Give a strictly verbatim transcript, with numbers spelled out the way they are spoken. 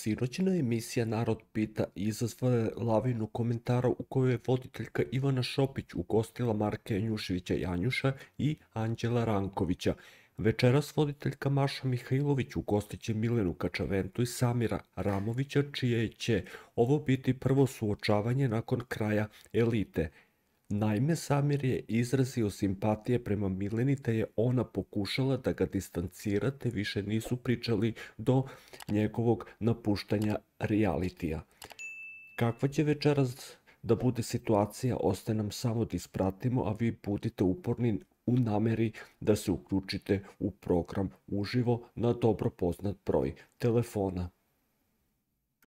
Sinoćna emisija Narod pita izazvala je lavinu komentara u kojoj je voditeljka Ivana Šopić ugostila Marka Janjuševića Janjuša i Anđela Rankovića. Večeras voditeljka Maša Mihajlović ugostit će Milenu Kačaventu i Samira Ramovića, čije će ovo biti prvo suočavanje nakon kraja Elite. Naime, Samir je izrazio simpatije prema Mileni, te je ona pokušala da ga distancira, te više nisu pričali do njegovog napuštanja realitija. Kakva će večeras da bude situacija, ostaje nam samo da ispratimo, a vi budite uporni u nameri da se uključite u program uživo na dobro poznat broj telefona.